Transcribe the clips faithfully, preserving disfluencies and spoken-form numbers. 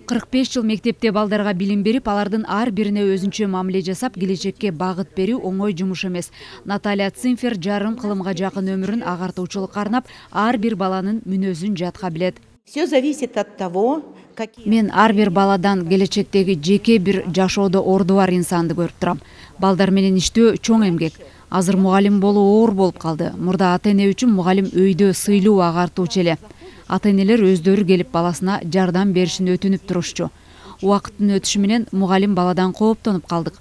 кырк беш жыл мектепте балдарга билим берип, алардын ар бирине өзүнчө мамиле жасап, келечекке багыт берүү оңой жумуш эмес. Наталья Цимфер жарым кылымга жакын өмүрүн агартуучулукка арнап, ар бир баланын мүнөзүн жатка билет. Все зависит от того, Мен ар бир баладан келечектеги жеке бир жашоодо орду бар инсанды көрүп турам. Балдар менен иштөө чоң эмгек. Азыр мугалим болуу оор болуп калды. Мурда ата-эне үчүн мугалим өйдө сыйлуу агартуучу эле. Ата-энелер өздөрү келип баласына жардам беришин өтүнүп турушчу. Убакыттын өтүшү менен мугалим баладан кооптонуп калдык.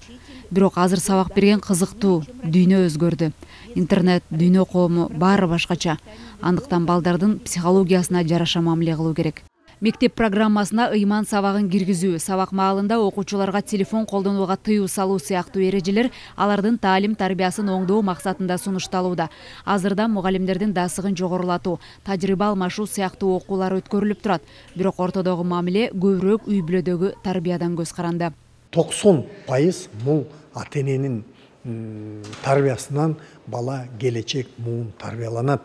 Бирок азыр сабак берген кызыктуу, дүйнө өзгөрдү. Интернет, дүйнө коому баары башкача. Андыктан балдардын психологиясына жараша мамиле кылуу керек. Мектеп программасына ыйман сабагын киргизүү, сабак маалында окуучуларга телефон колдонууга тыюу салуу сыяктуу эрежелер алардын таалим тарбиясын оңдоо максатында сунушталууда. Азырда мугалимдердин дасыгын жогорулатуу, тажрыйба алмашуу сыяктуу окуулар өткөрүлүп турат. Бирок ортодогу мамиле көбүрөөк үй бүлөдөгү тарбиядан көз каранды. токсон пайыз бул ата-эненин тарбиясынан бала келечек муун тарбияланат.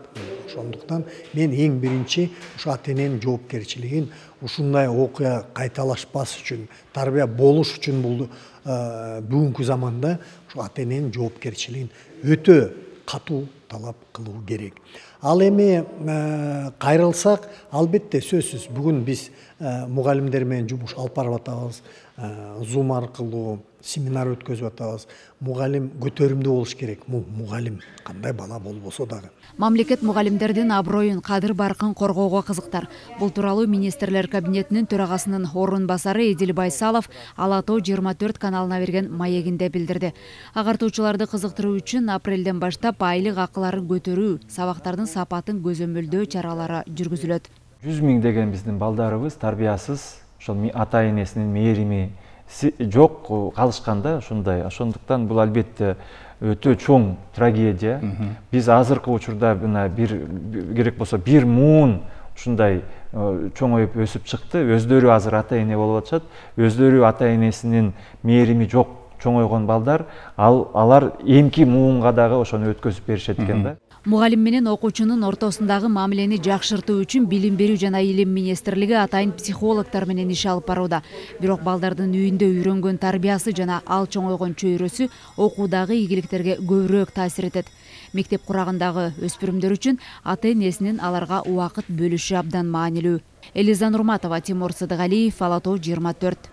Ошондуктан мен эң биринчи ушу ата-эненин жоопкерчилигин ушундай окуя кайталашпас үчүн, тарбия болуш үчүн бул бүгүнкү заманда ушу ата-эненин жоопкерчилигин өтө катуу талап кылуу керек. Ал эми кайрылсак, албетте сөзсүз бүгүн биз мугалимдер менен жумуш алып барып атабыз, Zoom аркылуу семинар өткөзүп атабыз. Мугалим көтөрүмдүү болуш керек. Мугалим кандай бала болбосо дагы. Мамлекет мугалимдердин аброюн, кадыр баркын коргоого кызыктар. Бул тууралуу министрлер кабинетинин төрагасынын орун басары Эдил Байсалов Ала Тоо жыйырма төрт каналына берген маегинде билдирди. Агартуучуларды кызыктыруу үчүн апрелден баштап айлык акыларын көтөрүү, сабактардын сапатын көзөмөлдөө чаралары жүргүзүлөт. жүз миң деген биздин балдарыбыз тарбиясыз, ошол ата-энесинин мээрими жок калышканда ушундай. Ошондуктан бул албетте өтө чоң трагедия. Биз азыркы учурда мына бир керек болсо бир муун ушундай чоңоюп өсүп чыкты. Өздөрү азыр ата-эне болуп атышат. Өздөрү ата-энесинин мээрими жок чоңойгон балдар, ал алар эмки муунга дагы ошону өткөзүп беришет экен да. Мугалим менен окуучунун ортосундагы мамилени жакшыртуу үчүн Билим берүү жана Илим министрлиги атайын психологдор менен иш алып барууда. Бирок балдардын үйүндө үйрөнгөн тарбиясы жана ал чоңойгон чөйрөсү окуудагы ийгиликтерге көбүрөөк таасир этет. Мектеп курагындагы өспүрүмдөр үчүн ата-энесинин аларга убакыт бөлүшү абдан маанилүү. Элиза Нурматова, Тимур Сыдыгалиев, Ала Тоо жыйырма төрт.